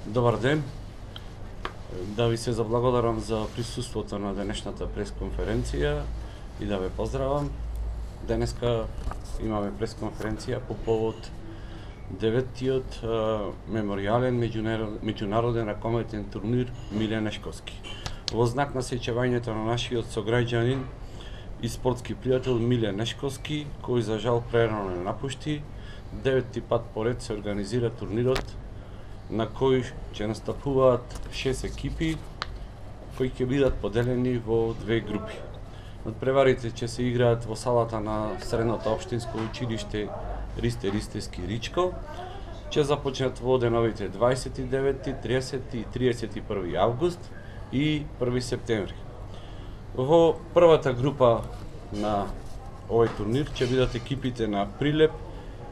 Добар ден. Да ви се заблагодарам за присуството на денешната пресконференција и да ве поздравам. Денеска имаме пресконференција по повод 9-тиот меморијален меѓународен ракометен турнир Миле Нешковски. Во знак на сеќавањето на нашиот сограѓанин и спортски пријател Миле Нешковски, кој за жал прерано не напушти, 9-ти пат поред се организира турнирот на кој ќе настапуваат 6 екипи кои ќе бидат поделени во две групи. Надпреварите ќе се играат во салата на Средното општинско училиште Ристе Ристевски Ричко. Ќе започнат во деновите 29, 30 и 31 август и 1 септември. Во првата група на овој турнир ќе бидат екипите на Прилеп,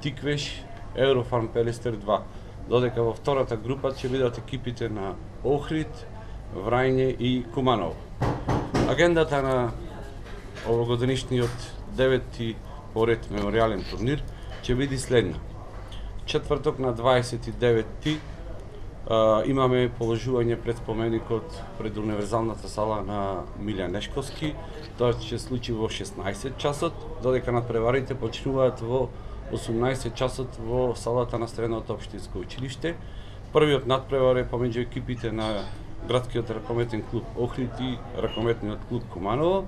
Тиквеш, Еврофарм Пелестер 2. Додека во втората група ќе бидат екипите на Охрид, Врајне и Куманово. Агендата на овогодишниот 9-ти поред меморијален турнир ќе биде следна. Четврток на 29-ти имаме положување пред споменикот пред универзалната сала на Миле Нешковски. Тоа ќе случи во 16 часот, додека надпреварите почнуваат во 18 часот во салата на Средното општинско училиште. Првиот надпревар е помеѓу екипите на градскиот ракометен клуб Охрид и ракометниот клуб Куманово.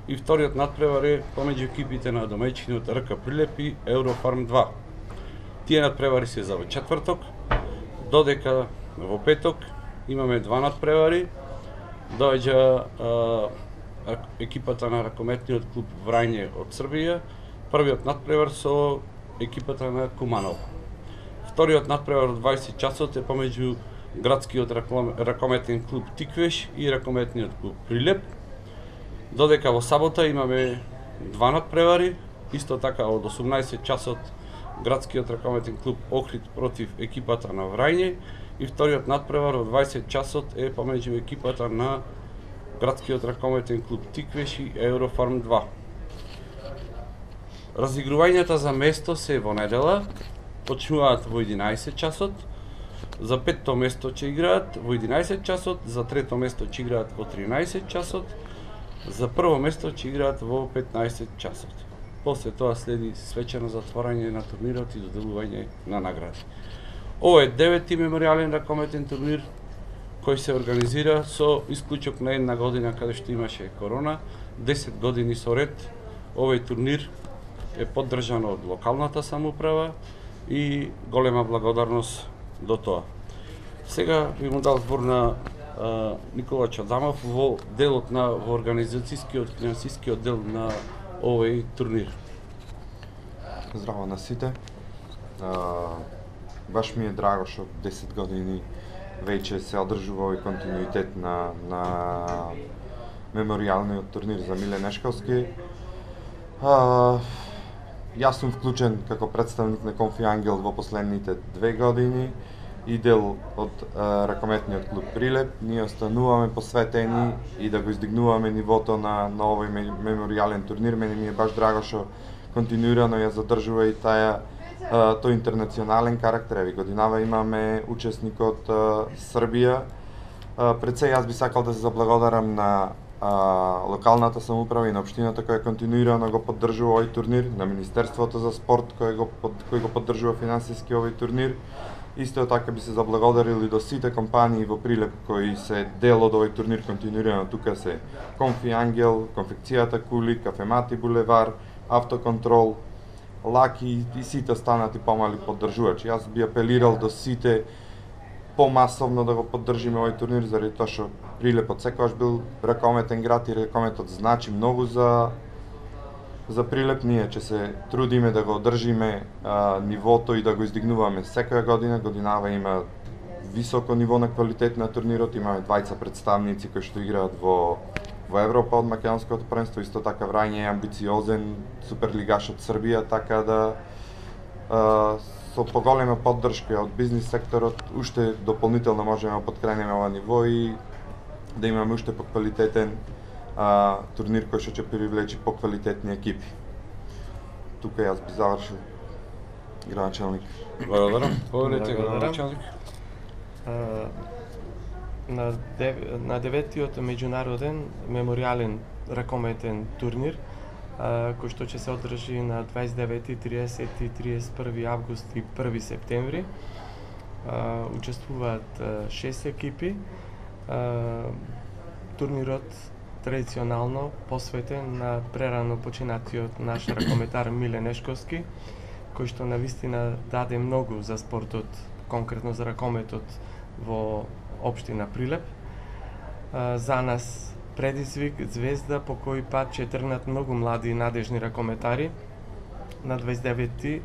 И вториот надпревар е помеѓу екипите на домаќинот РК Прилеп и Еврофарм 2. Тие надпревари се за во четврток, додека во петок имаме два надпревари. Доаѓа екипата на ракометниот клуб Врајне од Србија. Првиот надпревар со екипата на Куманово. Вториот надпревар од 20 часот е помеѓу градскиот ракометен клуб Тиквеш и ракометниот клуб Прилеп. Додека во сабота имаме два надпревари, исто така од 18 часот градскиот ракометен клуб Охрид против екипата на Врајне и вториот надпревар од 20 часот е помеѓу екипата на градскиот ракометен клуб Тиквеш и Еврофарм 2. Разигрувањата за место се во недела, почнуваат во 11 часот, за петто место ќе играат во 11 часот, за трето место ќе играат во 13 часот, за прво место ќе играат во 15 часот. После тоа следи свечено затворање на турнирот и доделување на награди. Ова е 9-ти меморијален ракометен турнир кој се организира со исклучок на една година каде што имаше корона. 10 години со ред овој турнир е поддржан од локалната самоуправа и голема благодарност до тоа. Сега би му дал збор на Никола Чадамов во делот на во организацијскиот финансискиот дел на овој турнир. Здраво на сите. Баш ми е драго што 10 години веќе се одржува овој континуитет на меморијалниот турнир за Миле Нешковски. Јас сум вклучен како представник на Конфи Ангел во последните 2 години и дел од ракометниот клуб Прилеп. Ние остануваме посветени и да го издигнуваме нивото на овој меморијален турнир. Мене ми е баш драго што континуирано ја задржува и тој интернационален карактер. Еви годинава имаме учесник од Србија. Пред се јас би сакал да се заблагодарам на локалната самоуправа и на општината која континуирано го поддржува овој турнир, на Министерството за спорт кој го поддржува финансиски овој турнир. Исто така би се заблагодарил и до сите компании во Прилеп кои се дел од овој турнир континуирано. Тука се Конфи Ангел, Конфекцијата Кули, Кафемати Булевар, Автоконтрол, Лаки и сите останати помали поддржувачи. Јас би апелирал до сите помасовно да го поддржиме овој турнир, заради тоа што Прилепот секогаш бил ракометен град и ракометот значи многу за Прилеп. Ние ќе се трудиме да го одржиме нивото и да го издигнуваме секоја година. Годинава има високо ниво на квалитет на турнирот. Имаме двајца представници кои што играат во Европа од македонското првенство. Исто така Врајне е амбициозен суперлигаш од Србија, така да со поголема поддршка од бизнис секторот уште дополнително можеме да поткренеме ова ниво и да имаме уште поквалитетен турнир кој што ќе привлечи поквалитетни екипи. Тука јас би завршил, градоначалник. Благодарам. Povedете, градоначалник. на 9-тиот меѓународен меморијален ракометен турнир, кој што ќе се одржи на 29, 30 и 31 август и 1 септември. Учествуваат 6 екипи. Турнирот традиционално посветен на прерано починатиот наш ракометар Миле Нешковски, кој што навистина даде многу за спортот, конкретно за ракометот во општина Прилеп. За нас предизвик, звезда по кој пат ќе тргнат многу млади и надежни ракометари. На 29-ти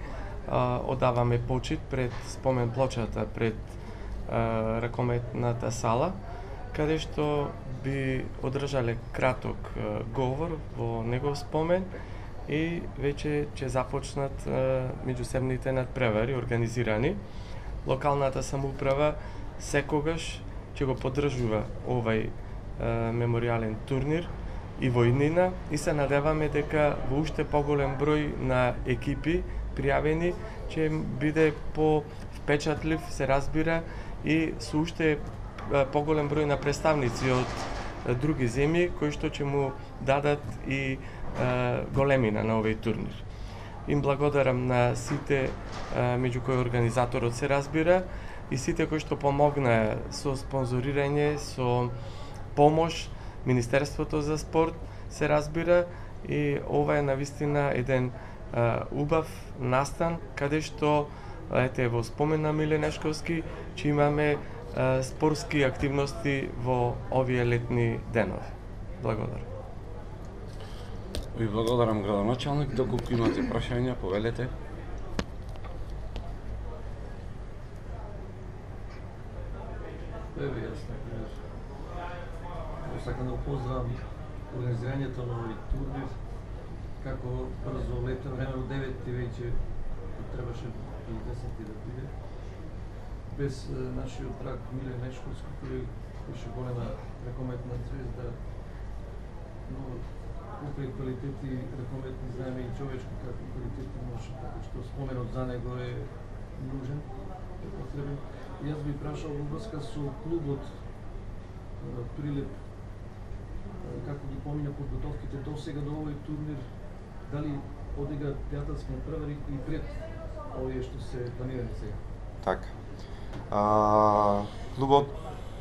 одаваме почит пред спомен плочата пред ракометната сала, каде што би одржале краток говор во негов спомен и веќе ќе започнат меѓусебните надпревари организирани. Локалната самоуправа секогаш ќе го поддржува овај меморијален турнир и во иднина и се надеваме дека во уште поголем број на екипи пријавени ќе биде по-впечатлив, се разбира, и со уште поголем број на представници од други земји кои што ќе му дадат и големина на овој турнир. Им благодарам на сите меѓу кои организаторот, се разбира, и сите кои што помогнаа со спонзорирање, со помош, Министерството за спорт, се разбира, и ова е навистина еден убав настан, каде што, ете, во спомен на Миле Нешковски, че имаме спортски активности во овие летни денови. Благодарам. Ви благодарам, градоначалник. Доколку имате прашања, повелете. Еве, јас сакам да поздравам организирањето на овој турнир, како брзо лета време од 9 веќе требаше до 10 да биде. Без нашиот драг Миле Нешковски, кој беше голема ракометна звезда, но покрај квалитети ракометни знаеме и човечки какви квалитети имаше, така што споменот за него е нужен, е потребен. И јас би прашал во врска со клубот Прилеп, како ги помиња подготовките до сега до овој турнир, дали одига пријателски надпревари и пред овие што се планирани сега? Така. Клубот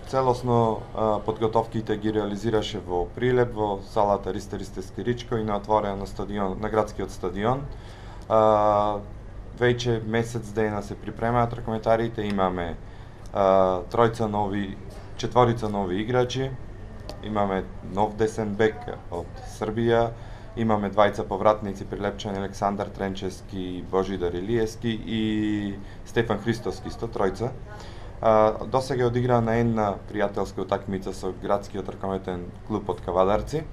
целосно подготовките ги реализираше во Прилеп, во салата Ристе Скиричко и на отворено стадион, на градскиот стадион. Веќе месец дена се припремаат ракометарите, имаме четворица нови играчи, имаме нов десен бек од Србија, имаме двајца повратници прилепчани, Александар Тренчевски, Божидар Илиевски и Стефан Христовски, тројца. Досега одигра на една пријателска утакмица со градскиот ракометен клуб од Кавадарци,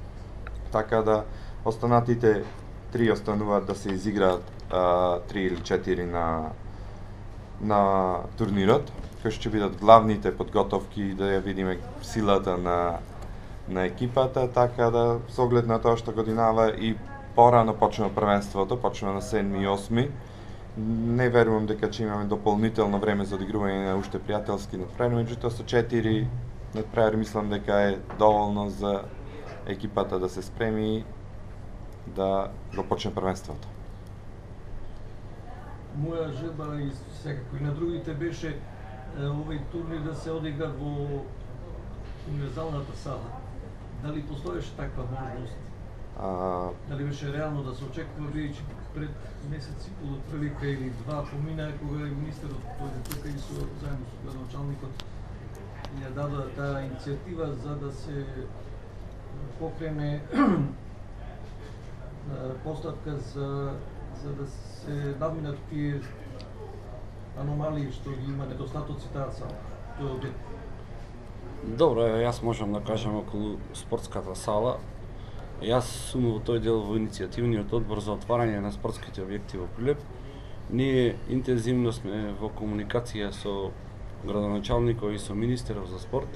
така да останатите три остануваат да се изиграат 3 или 4 на турнирот, кои ќе бидат главните подготовки да ја видиме силата на екипата, така да со оглед на тоа што годинава и порано почнува првенството, почнува на 7 и 8. Не верувам дека ќе имаме дополнително време за одигрување на уште пријателски надпревари, меѓутоа со 4 надпревари мислам дека е доволно за екипата да се спреми да го почне првенството. Моја желба и секако и на другите беше овој турнир да се одигра во универзалната сала. Дали постоеше таква можност? Дали беше реално да се очекува, бидејќи пред месец и пол отприлика или два помина, кога и министерот дојде тука и заедно со градоначалникот ја дада таа иницијатива за да се покрене постапка за да се надминат тие аномалии што ги има недостатоци таа сала. Тој објект. Добро, јас можам да кажам околу спортската сала. Јас сум во тој дел во иницијативниот одбор за отварање на спортските објекти во Прилеп. Ние интензивно сме во комуникација со градоначалникот и со министерот за спорт.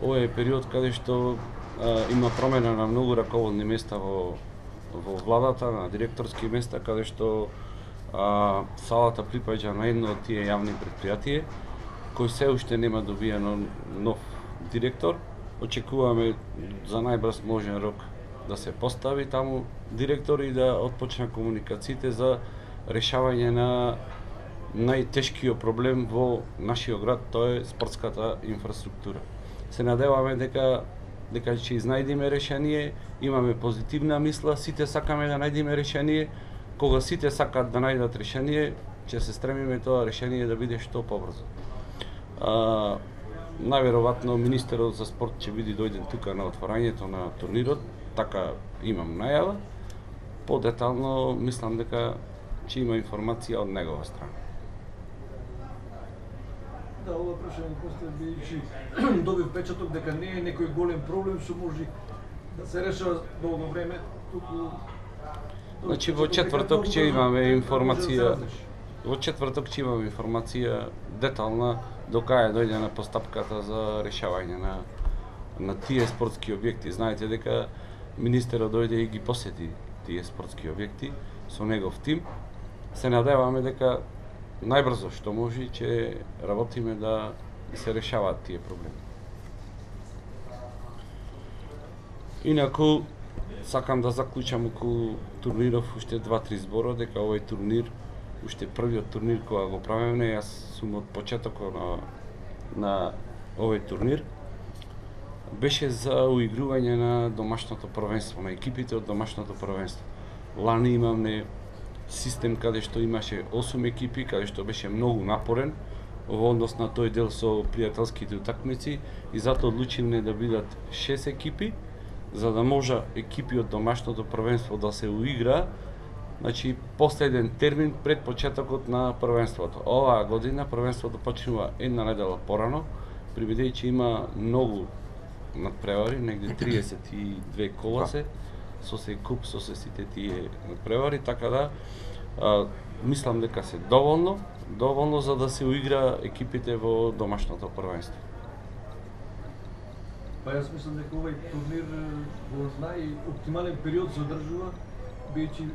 Ова е период каде што има промена на многу раководни места во владата, на директорски места, каде што салата припаѓа на едно од тие јавни предпријатија кој се уште нема добиено нов директор. Очекуваме за најбрз можен рок да се постави таму директор и да отпочна комуникациите за решавање на најтешкиот проблем во нашиот град, тоа е спортската инфраструктура. Се надеваме дека ќе изнајдеме решение, имаме позитивна мисла, сите сакаме да најдеме решение. Кога сите сакаат да најдат решение, ќе се стремиме тоа решение да биде што побрзо. Најверојатно министерот за спорт ќе биде дојден тука на отворањето на турнирот, така имам најава. Подетално мислам дека ќе има информација од негова страна. Да, ова прашање после бидејќи добив печаток дека не е некој голем проблем што може да се решава долго време, туку Значи во четврток ќе имаме информација. Во четврток ќе имаме информација детална до кај дојде на постапката за решавање на тие спортски објекти. Знаете дека министерот дојде и ги посети тие спортски објекти со негов тим. Се надеваме дека најбрзо што може ќе работиме да се решаваат тие проблеми. Инаку сакам да заклучам околу турниров уште 2-3 збора, дека овој турнир, уште првиот турнир кога го правиме, јас сум од почетокот на овој турнир, беше за уигрување на домашното првенство, на екипите од домашното првенство. Лани имаме систем каде што имаше 8 екипи, каде што беше многу напорен во однос на тој дел со пријателските утакмици и затоа одлучилме да бидат 6 екипи, за да може екипи од домашното првенство да се уигра, значи последен термин пред почетокот на првенството. Оваа година првенството почнува една недела порано, бидејќи има многу надпревари, негде 32 кола се, со се куп, со се сите тие надпревари, така да мислам дека се доволно за да се уигра екипите во домашното првенство. Па јас мислам дека овој турнир во најоптимален период се одржува, бидејќи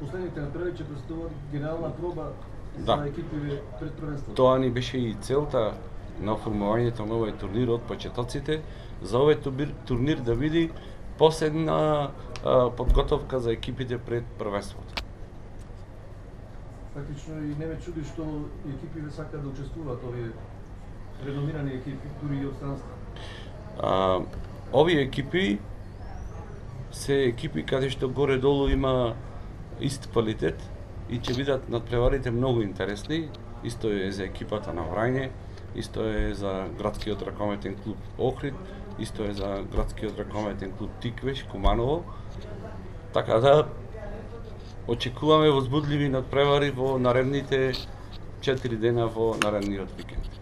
последните надпревари ќе представуваат генерална проба за екипите пред првенството. Тоа ни беше и целта на оформувањето на овој турнир од почетоците, за овој турнир да биде последна подготовка за екипите пред првенството. Фактично и не ме чуди што екипите сакаат да учествуваат, овие реномирани екипи, дури и од странство. Овие екипи се екипи каде што горе-долу има ист квалитет и ќе бидат надпреварите многу интересни. Исто е за екипата на Врање, исто е за градскиот ракометен клуб Охрид, исто е за градскиот ракометен клуб Тиквеш, Куманово. Така да очекуваме возбудливи надпревари во наредните 4 дена во наредниот викенд.